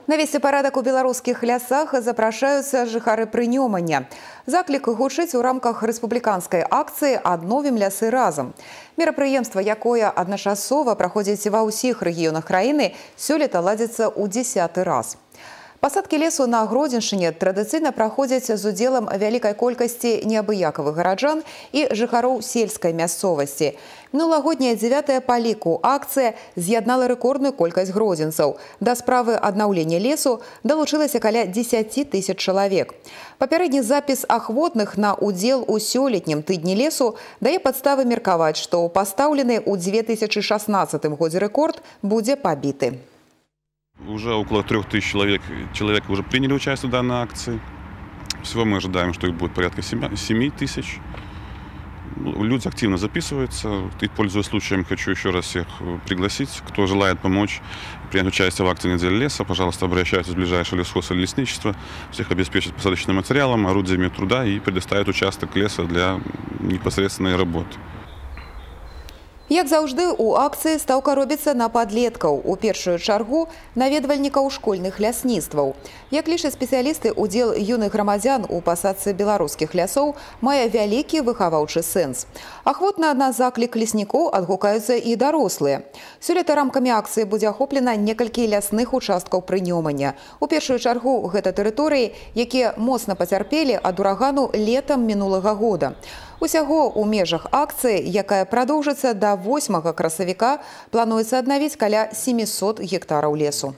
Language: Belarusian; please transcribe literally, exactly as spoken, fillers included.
Навесці парадак у беларускіх лясах запрашаюцца жыхары Прынёмання. Заклік гучыць у рамках рэспубліканскай акцыі «Адновім лясы разам». Мерапрыемства, якое адначасова праходзіць ва ўсіх рэгіёнах краіны, сёлета ладзіцца ў дзесяты раз. Пасадкі лесу на Гродзеншчыне традыцыйна праходзяць з удзелам вялікай колькасці неабыякавых гараджан і жыхароў сельскай мясцовасці. Мінулагодняя дзевятая па ліку акцыя з'яднала рэкордную колькасць гродзенцаў. Да справы аднаўлення лесу далучылася каля дзесяці тысяч чалавек. Папярэдні запіс ахвотных на удзел у сёлетнім тыдні лесу дае падставы меркаваць, што пастаўлены ў дзве тысячы шаснаццатым годзе рэкорд будзе пабіты. Уже около трех тысяч человек, человек уже приняли участие в данной акции. Всего мы ожидаем, что их будет порядка семи тысяч. Люди активно записываются. И, пользуясь случаем, хочу еще раз всех пригласить, кто желает помочь принять участие в акции «Неделя леса». Пожалуйста, обращайтесь в ближайшее лесхоз или лесничество. Всех обеспечат посадочным материалом, орудиями труда и предоставят участок леса для непосредственной работы. Як заўжды, у акцыі стаўка робіцца на падлеткаў, у першую чаргу наведвальнікаў школьных лясніцтваў. Як лічаць спецыялісты, удзел юных грамадзян у пасадцы беларускіх лясоў мае вялікі выхаваўчы сэнс. Ахвотна на заклік леснікоў адгукаюцца і дарослыя. Сёлета рамкамі акцыі будзе ахоплена некалькі лясных участкаў Прынёмання. У першую чаргу гэта тэрыторыі, якія моцна пацярпелі ад урагану летам мінулага года. Усяго ў межах акцыі, якая прадоўжыцца да восьмага красавіка, плануецца аднавіць каля сямісот гектараў лесу.